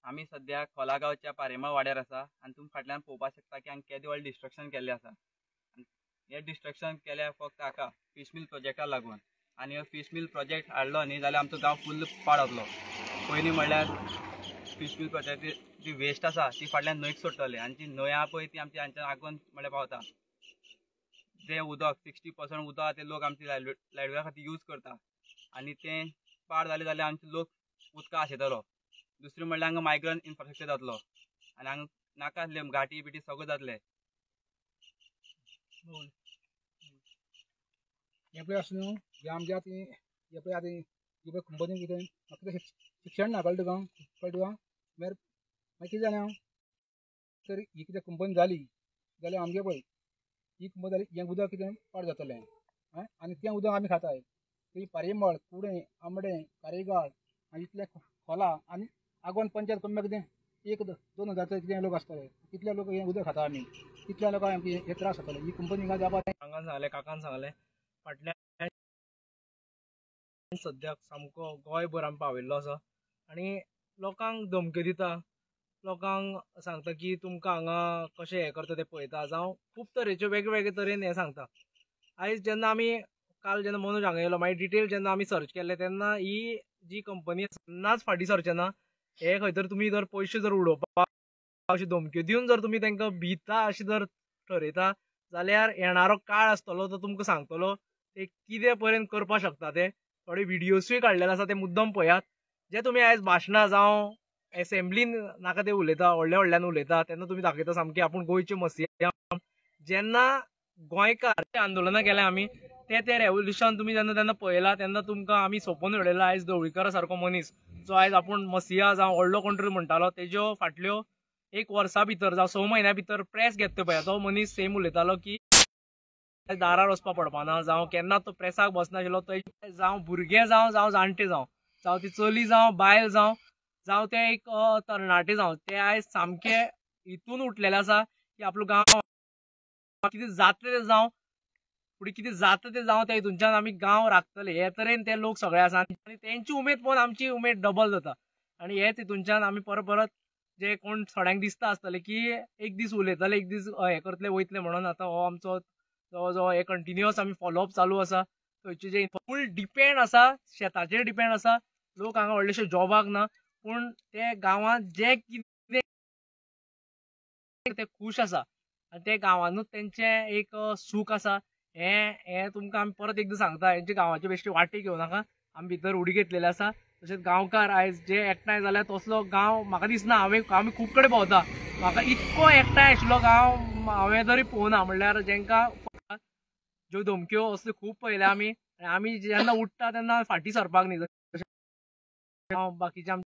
आमी सद्या खोला गांवच्या पारेमा वाड्यार आसा आनी तुमी फाटल्यान पळोवपाक शकता की हांगा केदें व्हडलें डिस्ट्रक्शन केल्लें आसा. हें डिस्ट्रक्शन केल्या फक्त हाका फीश मिल प्रोजेक्टाक लागून. आनी हो फीश मिल प्रोजेक्ट हाडलो न्ही जाल्यार आमचो गांव फुल्ल पाड जातलो. पयलीं म्हणल्यार फीश मिल प्रोजेक्ट जी वेस्ट आसा ती फाटल्यान न्हंयक सोडटले आनी जी न्हंय आहा पळय ती आमची हांच्यान आगोन म्हणल्यार पावता. जें उदक 60% उदक आहा तें लोक आमची लायटबिला खातीर यूज करता आनी तें पाड जालें जाल्यार आमचे लोक उदका आशेतलो. दुसरें म्हणल्यार हांगा मायग्रंट इन्फ्रास्ट्रक्चर जातलो आनी हांगा नाका आसले घाटी बिटी सगळें जातलें. हें पळय आसा न्हू हें आमगे आतां हें पळय आतां ही पळय कंपनी कितें म्हाका कितें शिक्षण ना कळटा तुका कळटा तुका मागीर मागीर कितें जालें हांव तर ही कितें कंपनी जाली जाल्यार आमगे पळय ही कंपनी जाली हें उदक कितें पाड जातलें आनी तें उदक आमी खाताय. ती पारेमळ कुडें आंबडें कारेगाळ आनी इतलें खोला आनी आगोंद पंचायत कमी कितें 1-2 हजार कितें लोक आसतले कितले लोक हें उदक खाता आमी कितल्या लोकांक आमकां हे त्रास जातले. ही कंपनी हिंगा जावपाक हांगा सांगलें काकान सांगलें फाटल्यान सद्याक सामको गोंयभर आमी पाविल्लो आसा आनी लोकांक धमक्यो दिता, लोकांक सांगता की तुमकां हांगा कशें हें करता तें पळयता, जावं खूब तरेच्यो वेगवेगळे तरेन हें सांगता. आयज जेन्ना आमी काल जेन्ना मनोज हांगा येयलो मागीर डिटेल जेन्ना आमी सर्च केल्ले तेन्ना ही जी कंपनी केन्नाच फाटीं सरचें ना. हे खंय तर तुमी जर पयशे जर उडोवपाक अशी धमक्यो दिवन जर तुमी तांकां भिता अशें जर ठरयता जाल्यार येणारो काळ आसतलो तो तुमकां सांगतलो ते कितें पर्यंत करपाक शकता. ते थोडे व्हिडियोसूय काडलेले आसा ते मुद्दम पळयात. जे तुमी आयज भाशणां जावं एसेंब्लीन नाका ते उलयता व्हडल्या व्हडल्यान उलयता तेन्ना तुमी दाखयता सामकें आपूण गोंयचे मसिया. जेन्ना गोंयकार आंदोलनां केल्या आमी ते ते रेवोल्युशन तुमी जेन्ना तेन्ना पळयला तेन्ना तुमकां आमी सोंपोवन उडयला. आयज ढवळीकारा सारको मनीस जो आयज आपूण मसिया जावं व्हडलो कोण तरी म्हणटालो तेज्यो फाटल्यो 1 वर्सा भितर जावं 6 म्हयन्या भितर प्रेस घेतलो पळय तो मनीस सेम उलयतालो की दारार वचपाक पडपाना जावं केन्ना तो प्रेसाक बसनाशिल्लो. तो जावं भुरगे जावं जावं जाणटे जावं जावं ती चली जावं बायल जावं जावं ते एक तरणाटे जावं ते आयज सामके हितून उठलेले आसा की आपलो गांव कितें जातलें तें जावं फुडें कितें जाता तें जावं त्या हितूनच्यान आमी गांव राखतले हे तरेन ते लोक सगळे आसा आनी तेंची उमेद पळोवन आमची उमेद डबल जाता. आनी हेच हितूनच्यान आमी परत परत जे कोण थोड्यांक दिसता आसतलें की एक दीस उलयतले एक दीस हें करतले वयतले म्हणून आतां हो आमचो जवळ जवळ हे कंटिन्युअस आमी फॉलोअप चालू आसा. थंयचे जे फूल डिपेंड आसा शेताचेर डिपेंड आसा लोक हांगा व्हडलेशे जॉबाक ना पूण ते गांवांत जे कितें ते खूश आसा आनी ते गांवानूच तेंचें एक सूख आसा. हें हें तुमकां आमी परत एकदां सांगता हेंचे गांवाचे बेश्टे वाटेक घेवं नाका, आमी भितर उडी घेतलेले आसा. तशेंच गांवकार आयज जे एकठांय जाल्यार तसलो गांव म्हाका दिसना. हांवें आमी खूब कडेन भोंवता म्हाका इतको एकठांय आशिल्लो गांव हांवें तरी पळोवना. म्हणल्यार जेंकां ज्यो धमक्यो असल्यो खूब पळयल्या आमी आनी आमी जेन्ना उठ्ठा तेन्ना फाटीं सरपाक न्ही. बाकीचे आमचे